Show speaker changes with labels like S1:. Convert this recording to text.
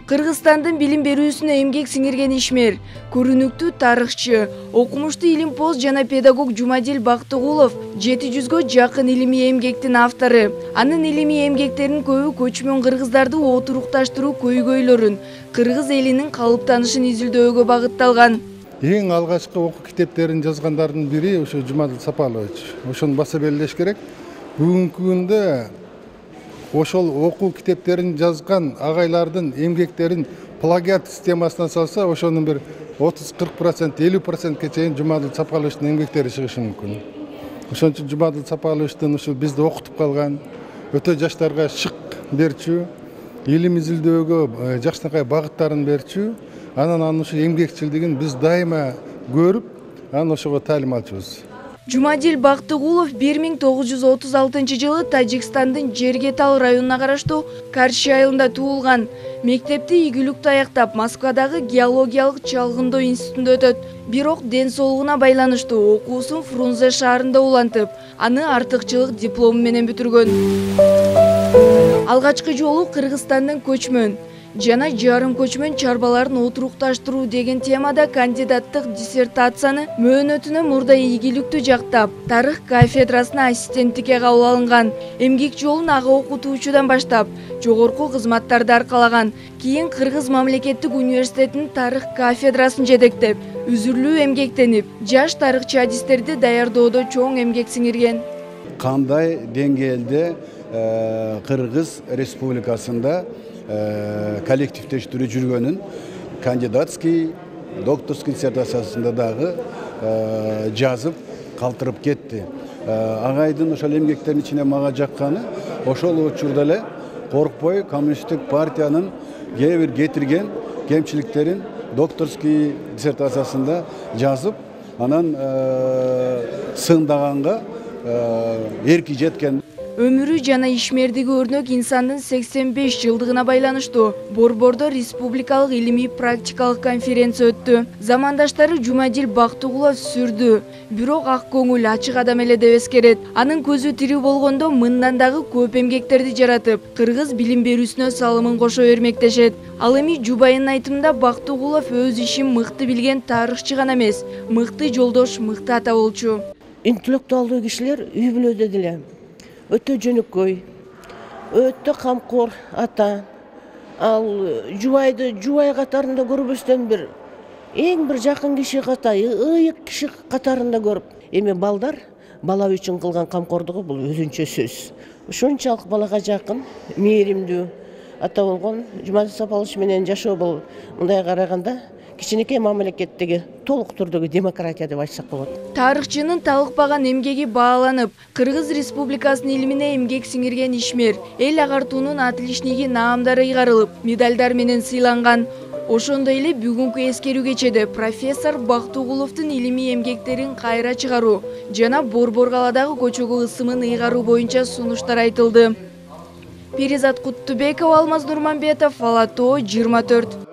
S1: Кыргызстандын билим берүүсүнө эмгек сиңирген ишмер, көрүнүктүү тарыхчы, окумуштуу илимпоз жана педагог Жумадил Бактыгулов 700гө жакын илимий эмгектин автору. Анын илимий эмгектеринин көбү көчмөн кыргыздарды отурукташтыруу көйгөйлөрүн, кыргыз элинин калыптанышын изилдөөгө багытталган.
S2: Эң алгачкы окуу китептерин жазгандардын бири ошо Жумадил Сапалович. Ошону баса белгилеш керек. Бүгүнкү күндө ошол окуу китептерин жазган агайлардын эмгектерин плагиат системасына салса, ошонун бир 30-40%, 50%ке чейин Жумадил Сапаловичтин эмгектери чыгышы мүмкүн. Ошон үчүн Жумадил Сапаловичтин ушул бизди окутуп калган, өтө жаштарга шык берчү, илим изилдөөгө жакшынакай багыттарын берчү, анан ушул эмгекчилдигин биз дайыма көрүп, анан ошого таалим алчубуз.
S1: Жумадил Бактыгулов 1936 жылы Тажикстандын Жергетал районуна караштуу Карши айылында туулган. Мектепти ийгиликтүү аяктап, Москвадагы геологиялык чалгындоо институтунда өтөт. Бирок ден соолугуна байланыштуу окуусун Фрунзе шаарында улантып, аны артыкчылык диплому менен бүтүргөн. Алгачкы жолу Кыргызстандын көчмөн жана жарым көчмөн чарбаларын отурукташтыруу деген темада кандидаттык диссертацияны мөөнөтүнө мурда ийгиликтүү жактап, тарых кафедрасына ассистенттикке кабыл алынган. Эмгек жолун ага окутуучудан баштап, жогорку кызматтарды аркалаган. Кийин Кыргыз мамлекеттик университетинин тарых кафедрасын жетектеп, үзүрлүү эмгектенип, жаш тарыхчы адистерди даярдоодо чоң эмгек сиңирген.
S3: Кандай деңгээлде Кыргыз Республикасында коллективдештирүү жүргөнүн кандидатский, докторский диссертациясында дагы жазып калтырып кетти. Агайдын ошол эмгектердин ичине мага жакканы ошол учурда эле коркпой коммунисттик партиянын кээ бир кетирген кемчиликтерин докторский диссертациясында жазып, анан сындаганга эрки жеткен.
S1: Өмүрү жана ишмердиги өрнөк инсандын 85 жылдыгына байланыштуу Борбордо республикалык илимий практикалык конференция өттү. Замандаштары Жумадил Бактыгулов сүрдү, бирок ак көңүл, ачык адам эле деп эскерет. Анын көзү тирүү болгондо мындан дагы көп эмгектерди жаратып, кыргыз билим берүүсүнө салымын кошо бермектешет. Ал эми жубайынын айтымында Бактыгулов өз ишин мыкты билген тарыхчы гана эмес, мыкты жолдош, мыкты ата болчу.
S4: Интеллектуалдуу кишилер үй бүлөдө деле өтө жөнөкөй, өтө камкор ата. Ал жубайды жубай катарында көрбөстөн эң бир жакын киши ыйык киши катарында көрүп, эми балдар бала үчүн кылган камкордугу бул өзүнчө сөз. Ушунчалык балага жакын, мээримдүү ата болгон Жумадил Сапалович менен жашоо бул мындай караганда кичинекей мамлекеттеги толук түрдөгү демократия деп айтсак болот.
S1: Тарыхчынын талыкпаган эмгеги бааланып, Кыргыз Республикасынын илимине эмгек сиңирген ишмер эл агартуунун отличниги наамдары ыйгарылып, медалдар менен сыйланган. Ошондой эле бүгүнкү эскерүү кечеде профессор Бактыгуловдун илимий эмгектерин кайра чыгаруу жана Борбор калаадагы көчөгө ысымын ыйгаруу боюнча сунуштар айтылды. Перизат Куттубекова, Алмаз Нурманбетов, Ала Тоо 24.